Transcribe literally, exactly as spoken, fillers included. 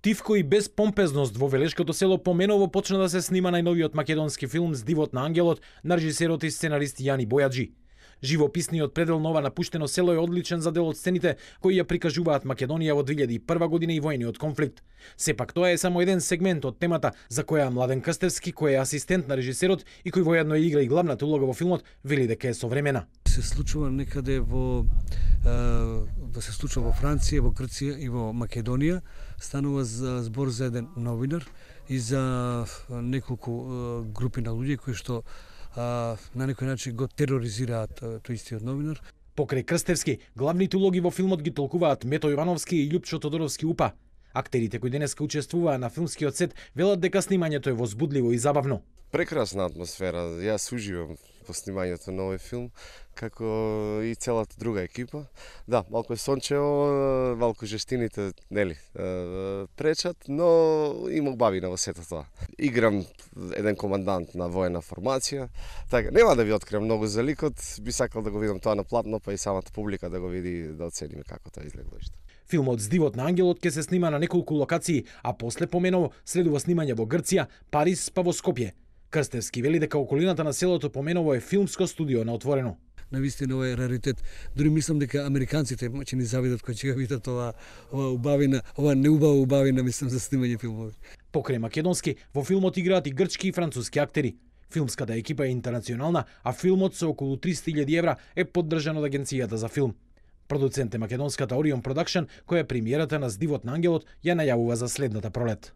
Тивко и без помпезност во Велешкото село Поменово почна да се снима најновиот македонски филм Здивот на ангелот на режисерот и сценарист Јани Бојаджи. Живописниот предел на ова напуштено село е одличен за дел од сцените кои ја прикажуваат Македонија во две илјади и прва година и војниот конфликт. Сепак тоа е само еден сегмент од темата за која Младен Крстевски, кој е асистент на режисерот и кој воедно игра и главната улога во филмот, вели дека е современа. Се случува некаде во е, се случува во Франција, во Грција и во Македонија. Станува за збор за еден новинар и за неколку е, групи на луѓе кои што а, на некој начин го тероризираат тој истиот новинар. Покрај Крстевски, главните улоги во филмот ги толкуваат Мето Ивановски и Љупчо Тодоровски Упа. Актерите кои денеска учествуваа на филмскиот сет велат дека снимањето е возбудливо и забавно. Прекрасна атмосфера. Јас уживам во снимањето на овој филм, како и целата друга екипа. Да, малку е сончево, малку жестините, нели, пречат, но има убавина во сето тоа. Играм еден командант на воена формација, така, нема да ви откриам многу за ликот, би сакал да го видам тоа на платно, па и самата публика да го види, да оцениме како тоа изгледа. Филмот Здивот на ангелот ќе се снима на неколку локации, а после Поменово следува снимање во Грција, Париз, па во Скопје. Крстевски вели дека околината на селото Поменово е филмско студио на отворено. Навистина ова е раритет. Дури мислам дека американците ќе ни завидат кога ќе видат ова ова убавина, ова неубава убавина, мислам, за снимање филмови. Покрај македонски, во филмот играат и грчки и француски актери. Филмската екипа е интернационална, а филмот со околу триста илјади евра е поддржан од Агенцијата за филм. Продуцент е македонската Orion Production, која премиерата на Здивот на ангелот ја најавува за следната пролет.